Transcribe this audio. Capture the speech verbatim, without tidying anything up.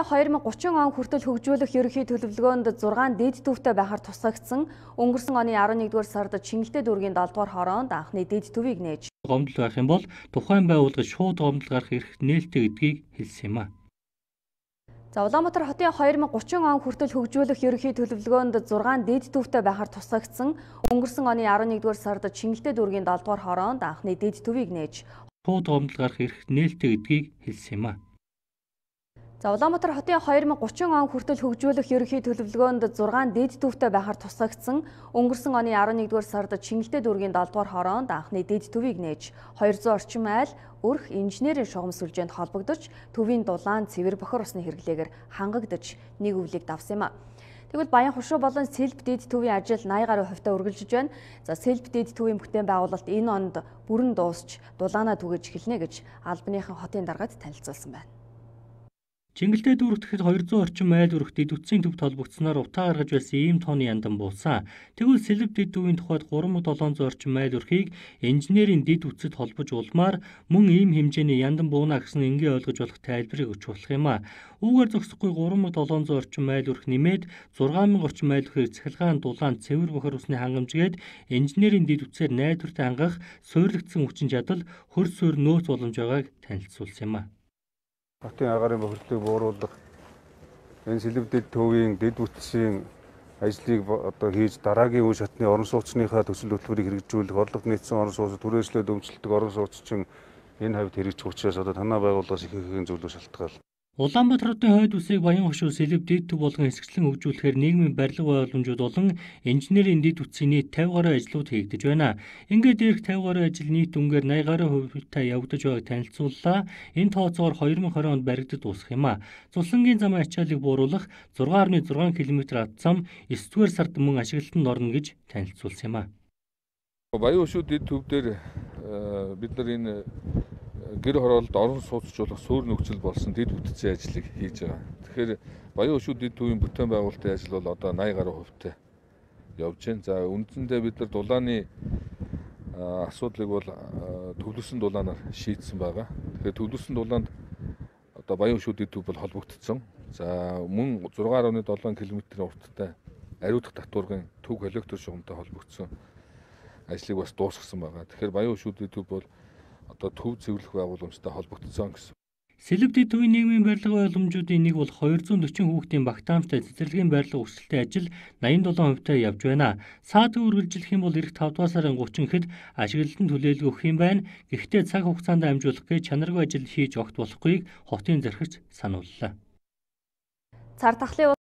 хоёр мың гурван он хүртэл хөгжүүлэх ерөнхий төлөвлөгөөнд зургаан дэд төвтэй байхаар тусгагдсан өнгөрсөн оны арван нэгдүгээр сард Чингэлтэй дүүргийн долдугаар хороонд анхны дэд төвийг нээж гомдол байх юм бол тухайн байгууллагад шууд гомдол гарах эрх нээлттэй гэдгийг хэлсэн юм а. За Улаанбаатар хотын хоёр мың гурван он хүртэл хөгжүүлэх ерөнхий төлөвлөгөөнд зургаан дэд төвтэй байхаар тусгагдсан өнгөрсөн оны арван нэгдүгээр сард Чингэлтэй дүүргийн долдугаар хороонд анхны дэд төвийг нээж шууд гомдол гарах эрх нээлттэй гэдгийг хэлсэн юм а. За Улаанбаатар хотын хоёр мың гурван он хүртэл хөгжүүлэх ерөнхий төлөвлөгөөнд зургаан дэд төвтэй байхаар тусгагдсан өнгөрсөн оны арван нэгдүгээр сард Чингэлтэй дүүргийн долдугаар хороонд анхны дэд төвийг нээж хоёр зуун орчим айл өрх инженерийн шугам сүлжээнд холбогдож төвийн дулаан цэвэр бохор усны хэрэглээгээр хангагдаж нэг өвлийг давсан юм а. Тэгвэл Баян хушуу болон Сэлб дэд төвийн ажил наяа гаруй хувьтай үргэлжилж байна. За Сэлб дэд төвийн бүтээн байгуулалт энэ онд бүрэн дуусч дулаанаа түгэж эхэлнэ гэж албаныхан хотын даргад танилцуулсан байна. Чингэлтэй дүүрэгт хоёр зуун орчим айл өрх дэд үтсийн төвд холбогдсоноор утаа гаргаж байсан ийм тооны яндан буусан. Тэгвэл Сэлб дэд төвийн тухайд гурван мың долоон зуун орчим айл өрхийг инженерийн дэд үтсэд холбож улмаар мөн ийм хэмжээний яндан бууна гэсэн энгийн ойлгож болох тайлбарыг өгч болох юм а. Үүгээр зогсохгүй гурван мың долоон зуун орчим айл өрх нэмээд зургаан мянга орчим айл өрхийг цахилгаан дулаан цэвэр бохор усны хангамжгээд инженерийн дэд үтсээр найдвартай хангах суйрлагдсан хүчин чадал хөрс суурь нөөц боломж байгааг танилцуулсан юм а. Хотын агаарын бохирдлыг бууруулах энэ Сэлб дэд төвийн дэд үтсийн ажлыг одоо хийж дараагийн үе шатны орон сууцныхаа төсөл хөтөлбөрийг хэрэгжүүлэх орлого нийцсэн орон сууцад түрээслээд өмчлөдөг орон сууцчин энэ хавьд хэрэгжих учраас одоо танаа байгууллагаас их ихэн зүйлүүд шалтгаална. Улаанбаатар хотын хойд үсийг Баян хушуу Сэлб дэд төв болгон хэсэгчлэн хөгжүүлэхээр нийгмийн барилга боломжууд болон инженерийн дэд үтсийн нийт тавин гаруй ажлууд хийгдэж байна. Ингээд дээрх тавин гаруй ажил нийт үнгээр наяа гаруй хувьтай явагдаж байгааг танилцууллаа. Энэ тооцоогоор хоёр мың двадцать онд баригдад дуусах юм а. Цуслангийн замын ачааллыг бууруулах зургаан гаруй зургаан километр ад зам эсвэн дугаар сард мөн ашиглалтанд орно гэж танилцуулсан юм а. Баян хушуу дэд төв дээр бид нар энэ гэр хороололд орон сууцчлуулах суурь нөхцөл болсон дэд бүтцийн ажлыг хийж байгаа. Тэгэхээр Баян хушуу дэд төвийн бүтээн байгуулалтын ажил бол одоо наяа гаруй хувьтай явж байна. За үндсэндээ бид нар дулааны асуудлыг бол төвлөрсөн дулаанаар шийдсэн байгаа. Тэгэхээр төвлөрсөн дулаанд одоо Баян хушуу дэд төв бол холбогдсон. За мөн зургаан гаруй долоон километрийн урттай ариутгах татваргын төв коллектор шугамтай холбогдсон ажлыг бас дуусгасан байгаа. Тэгэхээр Баян хушуу дэд төв бол одоо төв цэвэрлэх байгууламжтай холбогдсон гэсэн. Сэлб дэд төвийн нийгмийн барилга боломжуудын нэг бол хоёр зуун дөрвөн хүүхдийн багтаамжтай цэцэрлэгийн барилга өрсөлдөөн ажил найман долоон хувьтай явж байна. Саадгүй үргэлжлэх юм бол эх тавд дугаар сарын гуравчны хэд ашиглалтанд хүлээлт өгөх юм байна. Гэхдээ цаг хугацаанд амжуулах гэж чанаргүй ажил хийж огт болохгүйг хотын зархирч санууллаа. Цар тахлын